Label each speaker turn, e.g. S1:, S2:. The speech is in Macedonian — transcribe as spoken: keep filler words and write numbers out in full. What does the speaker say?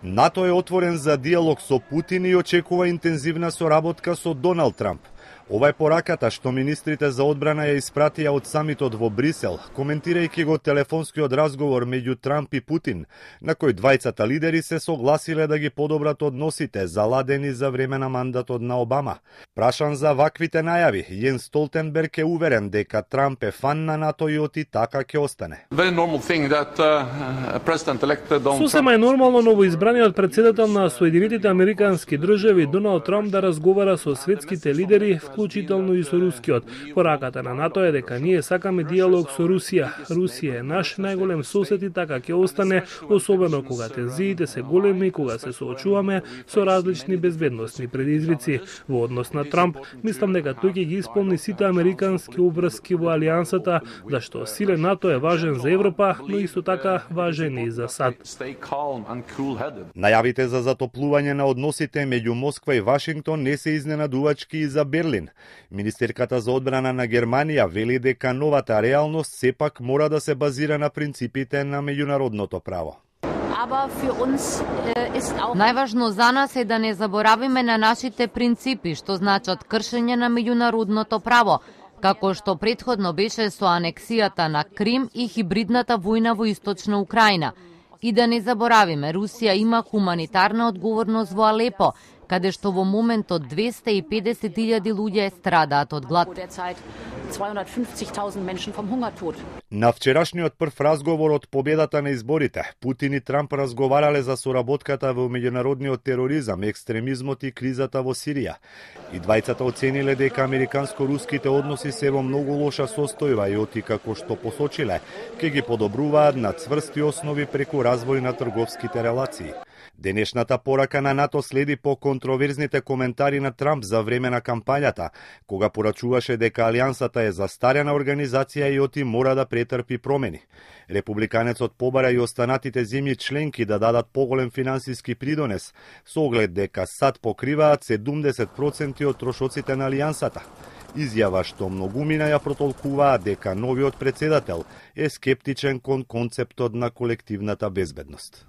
S1: НАТО е отворен за диалог со Путин и очекува интензивна соработка со Доналд Трамп. Ова е пораката што министрите за одбрана ја испратија од самитот во Брисел, коментирајќи го телефонскиот разговор меѓу Трамп и Путин, на кој двајцата лидери се согласиле да ги подобрат односите заладени за време на мандатот на Обама. Прашан за ваквите најави, Јенс Столтенберг е уверен дека Трамп е фан на НАТО и оти така ќе остане.
S2: Сосема е нормално новоизбраниот председател на Соединетите Американски држави Доналд Трамп да разговара со светските лидери, вклучително и со рускиот. Пораката на НАТО е дека ние сакаме диалог со Русија. Русија е наш најголем сосед и така ќе остане, особено кога тензиите се големи, кога се соочуваме со различни безбедносни предизвици. Во однос на Трамп, мислам дека тој ќе ги исполни сите американски обврски во алијансата, зашто силен НАТО е важен за Европа, но исто така важен и за САД.
S1: Најавите за затоплување на односите меѓу Москва и Вашингтон не се изненадувачки и за Берлин. Министерката за одбрана на Германија вели дека новата реалност сепак мора да се базира на принципите на меѓународното право.
S3: Најважно за нас е да не заборавиме на нашите принципи, што значат кршење на меѓународното право, како што претходно беше со анексијата на Крим и хибридната војна во Источна Украина. И да не заборавиме, Русија има хуманитарна одговорност во Алепо, каде што во моментот двесте и педесет илјади луѓе страдаат од глад.
S1: На вчерашниот прв разговор од победата на изборите, Путин и Трамп разговарале за соработката во меѓународниот тероризам, екстремизмот и кризата во Сирија. И двајцата оцениле дека американско-руските односи се во многу лоша состојба и оти како што посочиле, ќе ги подобруваат на цврсти основи преку развој на трговските релации. Денешната порака на НАТО следи по контроверзните коментари на Трамп за време на кампањата, кога порачуваше дека алијансата е застарена организација и оти мора да претрпи промени. Републиканецот побара и останатите земји членки да дадат поголем финансиски придонес, со оглед дека САД покриваат седумдесет проценти од трошоците на алијансата. Изјава што многумина ја протолкуваат дека новиот председател е скептичен кон концептот на колективната безбедност.